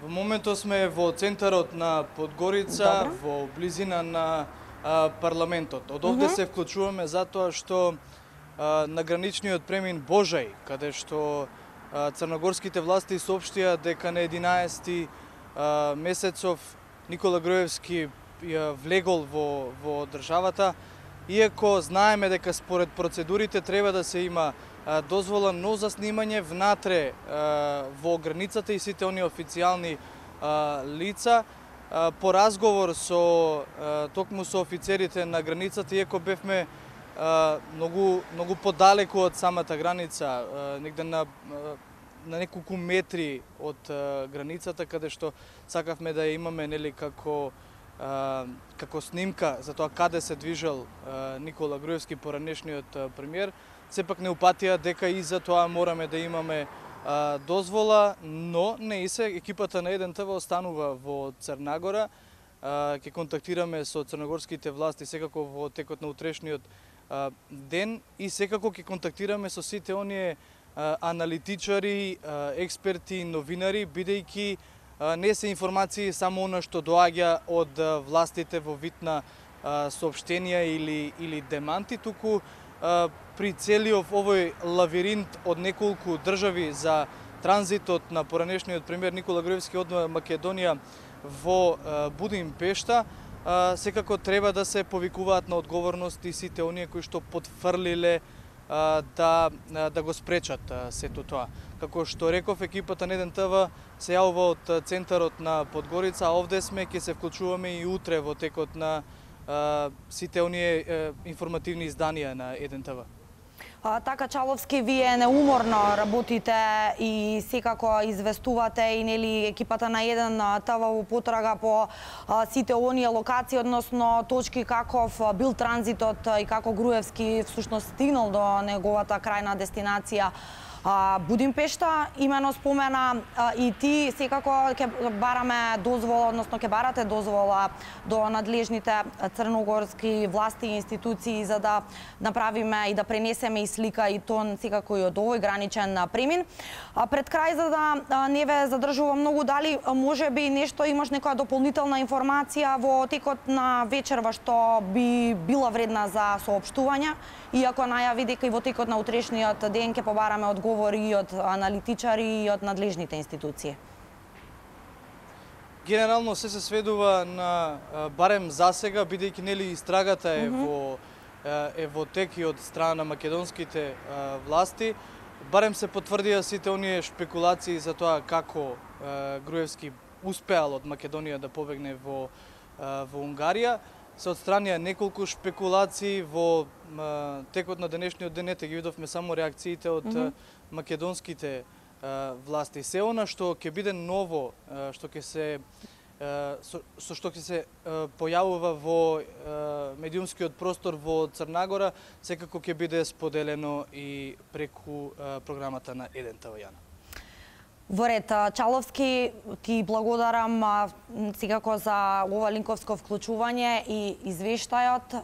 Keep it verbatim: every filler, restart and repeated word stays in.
Во моментот сме во центарот на Подгорица, Добро. во близина на а, парламентот. Од овде Мгм. се вклучуваме затоа што а, на граничниот премин Божај, каде што а, црногорските власти соопштија дека на единаесети а, месецов Никола Груевски ја влегол во, во државата, иако знаеме дека според процедурите треба да се има а, дозвола, но за снимање внатре а, во границата и сите оние официјални а, лица, а, по разговор со а, токму со офицерите на границата, иако бевме а, многу многу подалеку од самата граница, а, негде на а, на неколку метри од а, границата, каде што сакавме да ја имаме нели како а, како снимка за тоа каде се движел а, Никола Груевски, поранешниот а, премиер, сепак не упатија дека и за тоа мораме да имаме а, дозвола, но не и се екипата на еден ТВ останува во Црнагора. А, ќе контактираме со црногорските власти секако во текот на утрешниот а, ден и секако ќе контактираме со сите оние а, аналитичари, а, експерти, новинари, бидејќи а, не се информации само она што доаѓа од а, властите во вид на а, соопштенија или или деманти, туку а, при целиот овој лавиринт од неколку држави за транзитот на поранешниот премиер Никола Груевски од Македонија во а, Будимпешта, а, секако треба да се повикуваат на одговорност и сите оние кои што потфрлиле а, да да го спречат а, сето тоа. Како што реков, екипата на еден ТВ се јавува од центарот на Подгорица, а овде сме, ќе се вклучуваме и утре во текот на а, сите оние а, информативни изданија на еден ТВ. А, така, Чаловски, вие неуморно работите и секако известувате и нели екипата на еден ТВ во потрага по а, сите оние локации, односно точки каков бил транзитот и како Груевски всушност стигнал до неговата крајна дестинација а, Будимпешта. Имено спомена а, и ти, секако ќе бараме дозвола, односно ќе барате дозвола до надлежните црногорски власти и институции за да направиме и да пренесеме и слика и тон секако и од овој граничен премин. А, пред крај, за да а, не ве задржувам многу, дали може би нешто имаш некоја дополнителна информација во текот на вечерва што би била вредна за соопштување, иако најави дека и во текот на утрешниот ден ќе побараме одговори и од аналитичари и од надлежните институции? Генерално се се сведува на барем засега, бидејќи нели истрагата е Мгм. во е во тек и од страна на македонските а, власти. Барем се потврдија сите оние шпекулации за тоа како а, Груевски успеал од Македонија да побегне во а, во Унгарија. Се отстранија неколку шпекулации во а, текот на денешниот ден, ете ги видовме само реакциите од Мгм. македонските а, власти. Се она што ќе биде ново, а, што ќе се а, со, со што ќе се а, појавува во а, медиумскиот простор во Црнагора, секако ќе биде споделено и преку а, програмата на еден ТВ Јана. Во ред, Чаловски, ти благодарам а, секако за ова линковско вклучување и извештајот.